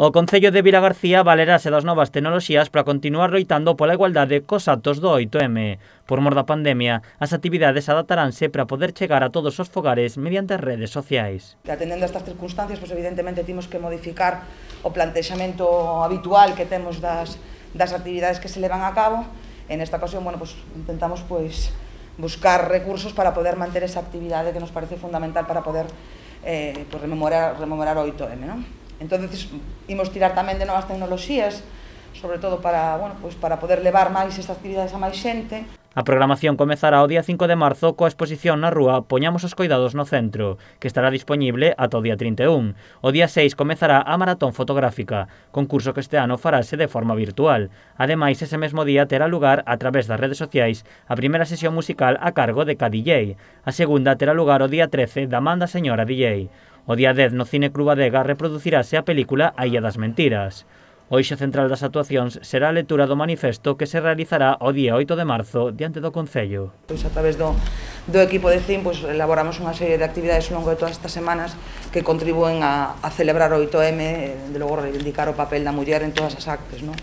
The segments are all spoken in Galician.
O Concello de Vilagarcía valerase das novas tecnoloxías para continuar loitando pola igualdade cos actos do 8M. Por mor da pandemia, as actividades adaptaránse para poder chegar a todos os fogares mediante as redes sociais. Atendendo a estas circunstancias, pues evidentemente temos que modificar o plantexamento habitual que temos das actividades que se levan a cabo. En esta ocasión, bueno, pues intentamos buscar recursos para poder manter esa actividade que nos parece fundamental para poder rememorar o 8M, ¿no? Entonces, imos tirar tamén de novas tecnoloxías, sobre todo para poder levar máis estas actividades a máis xente. A programación comezará o día 5 de marzo coa exposición na rúa Poñamos os coidados no centro, que estará dispoñible ata o día 31. O día 6 comezará a maratón fotográfica, concurso que este ano farase de forma virtual. Ademais, ese mesmo día terá lugar, a través das redes sociais, a primeira sesión musical a cargo de K-DJ. A segunda terá lugar o día 13 da man da señora DJ. O día 10 no Cine Club Adega reproducirase a película A Illa das Mentiras. O eixo central das actuacións será a lectura do manifesto que se realizará o día 8 de marzo diante do Concello. A través do equipo de CIM elaboramos unha serie de actividades ao longo de todas estas semanas que contribúen a celebrar o 8M, de logo reivindicar o papel da muller en todas as actes, ¿no?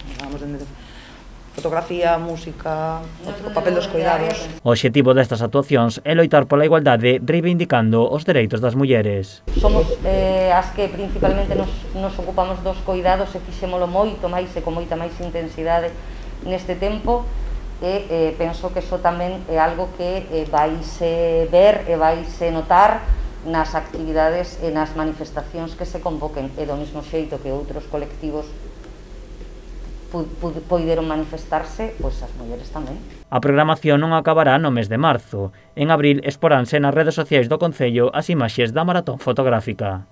Fotografía, música, o papel dos cuidados. O obxectivo destas actuacións é loitar pola igualdade reivindicando os dereitos das mulleres. Somos as que principalmente nos ocupamos dos cuidados e fixémolo moito máis e con moita máis intensidade neste tempo e penso que iso tamén é algo que vaise ver e vaise notar nas actividades e nas manifestacións que se convoquen e do mesmo xeito que outros colectivos poideron manifestarse, pois as mulleres tamén. A programación non acabará no mes de marzo. En abril exporánse nas redes sociais do Concello as imaxes da maratón fotográfica.